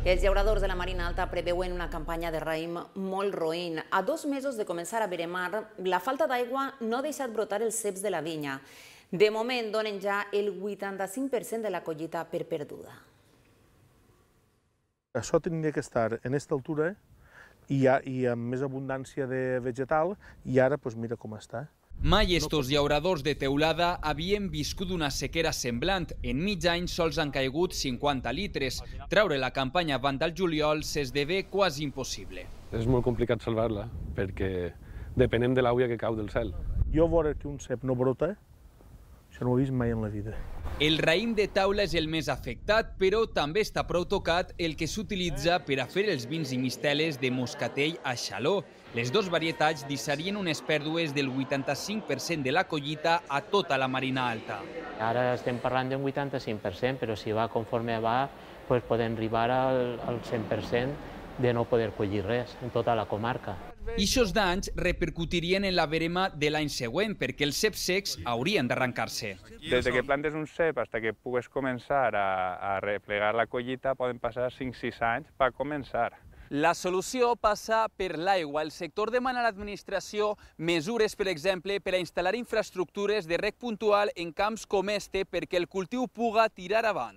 Els llauradors de la Marina Alta preveuen una campanya de raïm molt roïn. A 2 mesos de començar a veremar, la falta d'aigua no ha deixat brotar els ceps de la vinya. De moment, donen ja el 85% de la collita per perduda. Això tindria que estar en aquesta altura i amb més abundància de vegetal, i ara mira com està. Mai estos llauradors de teulada havien viscut una sequera semblant. En mig any sols han caigut 50 litres. Treure la campanya abans del juliol s'esdevé quasi impossible. És molt complicat salvar-la, perquè depenem de l'aigua que cau del cel. Jo veure que un cep no brota, això no ho he vist mai en la vida. El raïm de taula és el més afectat, però també està prou tocat el que s'utilitza per a fer els vins i misteles de moscatell a xaló. Les dues varietats deixarien unes pèrdues del 85% de la collita a tota la Marina Alta. Ara estem parlant d'un 85%, però si va conforme va, podem arribar al 100% de no poder collir res en tota la comarca. Ixos danys repercutirien en la verema de l'any següent, perquè els ceps secs haurien d'arrencar-se. Des que plantes un cep fins que pugues començar a replegar la collita poden passar 5-6 anys per començar. La solució passa per l'aigua. El sector demana a l'administració mesures, per exemple, per a instal·lar infraestructures de reg puntual en camps com este perquè el cultiu puga tirar avant.